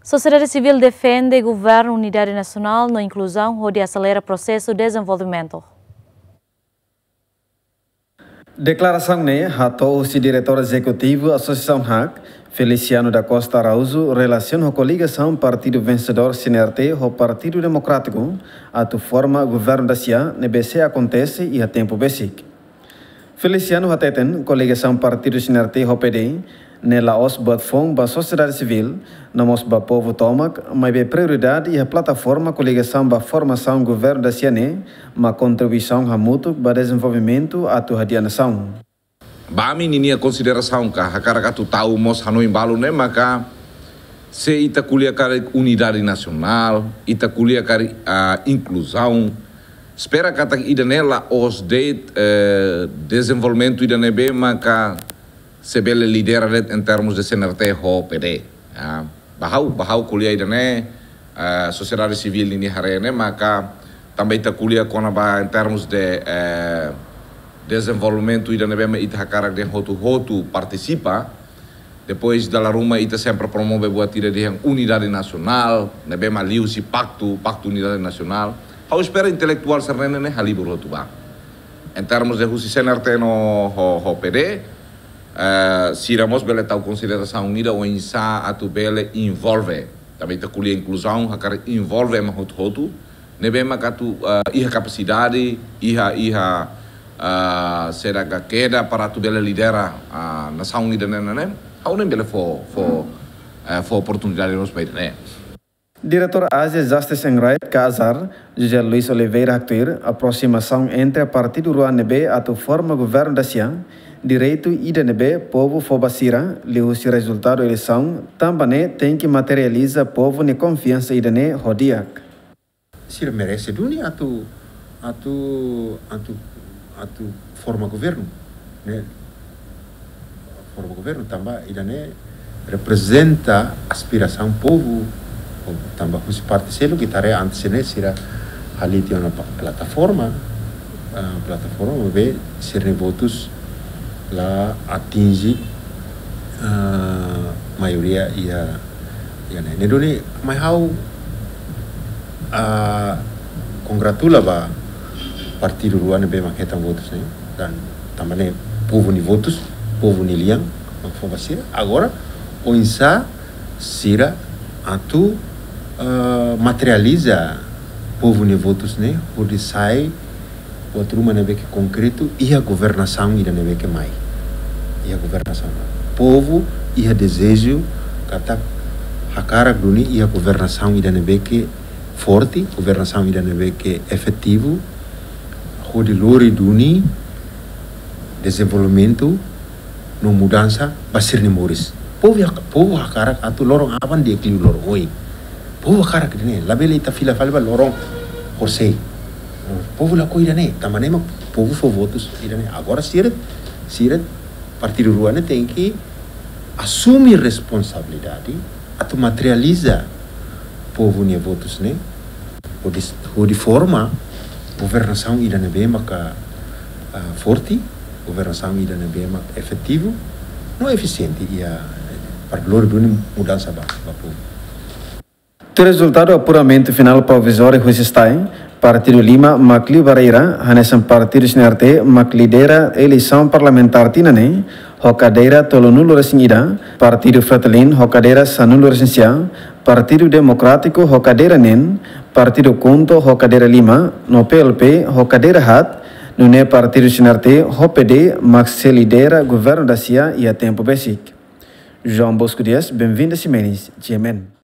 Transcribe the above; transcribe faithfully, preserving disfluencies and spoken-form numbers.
Sosiedade sivíl defende governu unidade nasionál no inkluzaun hodi aselera prosesu dezenvolvimentu. Deklarasaun ne'e hato'o husi Diretór Ezekutivu Asosiasaun HAK, Feliciano da Costa Araújo, relasiona ho koligasaun partidu vensedór C N R T ho Partidu Demokrátiku atu forma governu dasia ne'ebé sei akontese iha tempu besik. Feliciano hateten koligasaun partidu C N R T ho P D ne'e la'ós buat foun ba sosiedade sivíl, no mós ba povu tomak, maibé prioridade iha plataforma koligasaun ba formasaun governu dasia ne'e mak kontribuisaun hamutuk ba dezenvolvimentu atu hadi'a nasaun. Ba ami ninia konsiderasaun ka hakarak atu tau mós hanoin balu ne'e maka se ita ko'alia karik unidade nasionál, ita ko'alia karik, ah, inkluzaun, espera katak ida-ne'e la'ós de'it, eh, dezenvolvimentu ida ne'ebé maka sei bele lidera de'it em termos de C N R T ho P D. Ah, ba ha'u, ba ha'u ko'alia ida-ne'e, eh, sosiedade sivíl ninia haree ne'e maka tanba ita ko'alia kona-ba em termos de, eh, dezenvolvimentu ida ne'ebé mak ita hakarak dehan hotu-hotu partisipa. Depois dala ruma ita sempre promove buat ida dehan unidade nasionál, ne'ebé mak liuhusi paktu, paktu unidade nasionál. Ha'u espera intelektuál sira-ne'e ne'e halibur hotu ba. Em termos de husi C N R T no ho, ho P D, eh, sira mós bele tau konsiderasaun ida oinsá atu bele envolve. Tanba ita ko'alia inkluzaun, hakarak envolve ema hotu-hotu. Ne'ebé maka atu, eh, iha kapasidade, iha, iha, eh, saida ka keda para atu bele lidera, eh, nasaun ida-ne'e, ne'e, ne'e. Ha'u ne'e bele fó, fó, eh, fó oportunidade mós ba ida-ne'e. Diretór Asia Justice and Right ka AJAR, José Luis Oliveira haktuir, aprosimasaun entre partidu rua ne'ebé atu forma governu dasia, direitu ida ne'ebé povu fó ba sira, liuhusi rezultadu eleisaun, tanba ne'e tenke materializa povu nia konfiansa ida-ne'e ho di'ak. Sira merese duni atu, atu, atu, atu forma governu, ne'e? Forma governu tanba ida-ne'e reprezenta aspirasaun povu, tanba husi parte seluk ita haree antes ne'e sira haliti ona pa-, plataforma, ah, plataforma be sira-nia votus la atinje, ah, maioria iha, iha ne'e. Ne'e duni mai ha'u, ah, kongratula ba partidu rua ne'ebé mak hetan votus ne'e. Dan tanba ne'e povu nia votus, povu nia lian mak fó ba sira. Agora, oinsá sira atu, eh, materializa povu nia votus ne'e hodi sai buat ruma ne'ebé ke konkretu iha governasaun ida ne'ebé ke mai. Iha governasaun. Povu iha dezeju katak hakarak duni iha governasaun ida ne'ebé ke forte, governasaun ida ne'ebé ke efetivu, hodi lori duni dezenvolvimentu no mudansa ba sira-nia moris. Povu hak-, povu hakarak atu loron aban di'ak liu loron oin. Povu hakarak ida-ne'e, labele ita fila fali ba loron horisehik. Povu lakohi ida-ne'e, tanba ne'e mak povu fó votus ida-ne'e. Agora sira, sira partidu rua ne'e tenke asume responsabilidade atu materializa povu nia votus ne'e, hodi, hodi forma governasaun ida ne'ebé maka, ah, forte, governasaun ida ne'ebé maka efetivu, no efisiente iha para lori duni mudansa ba, ba povu. Tuir rezultadu apuramentu finál provizóriu husi STAE, partidu lima mak liu ba reira, hanesan partidu C N R T mak lidera eleisaun parlamentár tinan ne'e, ho kadeira tolunulu-resin-ida, partidu Fretilin ho kadeira sanulu-resin-sia, partidu Demokrátiku ho kadeira neen, partidu KHUNTO ho kadeira lima, no P L P ho kadeira haat, nune'e partidu C N R T ho P D mak sei lidera governu dasia iha tempu besik. João Bosco Dias, Benvinda Ximenes, G M N.